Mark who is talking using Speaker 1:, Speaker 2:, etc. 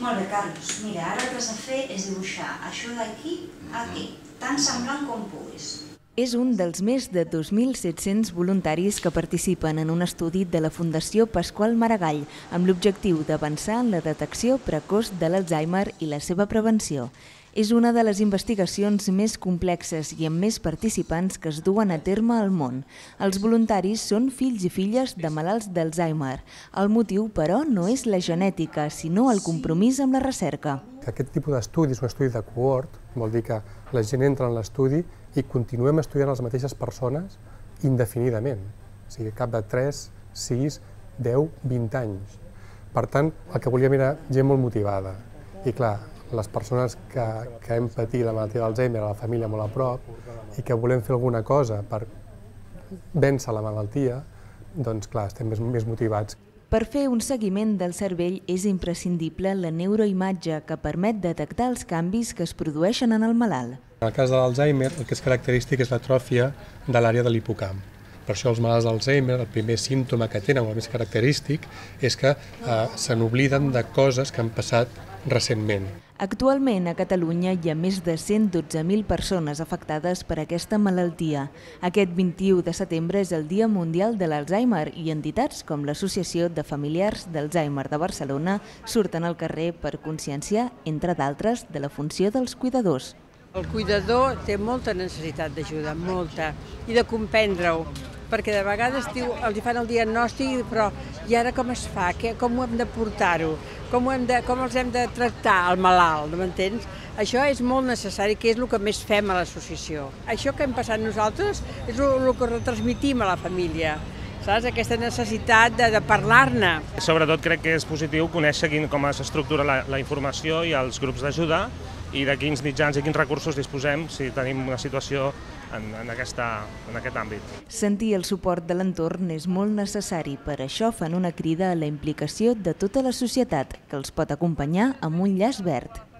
Speaker 1: Molt bé, Carlos. Mira, ara el que has de fer és dibuixar això d'aquí a aquí, tan semblant com puguis.
Speaker 2: És un dels més de 2.700 voluntaris que participen en un estudi de la Fundació Pasqual Maragall amb l'objectiu d'avançar en la detecció precoç de l'Alzheimer i la seva prevenció. És una de les investigacions més complexes i amb més participants que es duen a terme al món. Els voluntaris són fills i filles de malalts d'Alzheimer. El motiu, però, no és la genètica, sinó el compromís amb la recerca.
Speaker 3: Aquest tipus d'estudi és un estudi de cohort, vol dir que la gent entra en l'estudi i continuem estudiant les mateixes persones indefinidament, o sigui, cap de 3, 6, 10, 20 anys. Per tant, el que volíem era gent molt motivada. I clar, les persones que hem patit la malaltia d'Alzheimer a la família molt a prop i que volem fer alguna cosa per vèncer la malaltia, doncs clar, estem més motivats.
Speaker 2: Per fer un seguiment del cervell és imprescindible la neuroimatge que permet detectar els canvis que es produeixen en el malalt.
Speaker 3: En el cas de l'Alzheimer, el que és característic és l'atròfia de l'àrea de l'hipocamp. Per això els malalts d'Alzheimer, el primer símptoma que tenen, o el més característic, és que se n'obliden de coses que han passat recentment.
Speaker 2: Actualment a Catalunya hi ha més de 112.000 persones afectades per aquesta malaltia. Aquest 21 de setembre és el Dia Mundial de l'Alzheimer i entitats com l'Associació de Familiars d'Alzheimer de Barcelona surten al carrer per conscienciar, entre d'altres, de la funció dels cuidadors.
Speaker 4: El cuidador té molta necessitat d'ajuda, molta, i de comprendre-ho, perquè de vegades els fan el diagnòstic, però i ara com es fa? Com ho hem de portar-ho? Com els hem de tractar, el malalt, m'entens? Això és molt necessari, que és el que més fem a l'associació. Això que hem passat nosaltres és el que retransmitim a la família. Saps? Aquesta necessitat de parlar-ne.
Speaker 5: Sobretot crec que és positiu conèixer com s'estructura la informació i els grups d'ajuda i de quins mitjans i quins recursos disposem si tenim una situació en aquest àmbit.
Speaker 2: Sentir el suport de l'entorn és molt necessari, per això fan una crida a la implicació de tota la societat, que els pot acompanyar amb un llaç verd.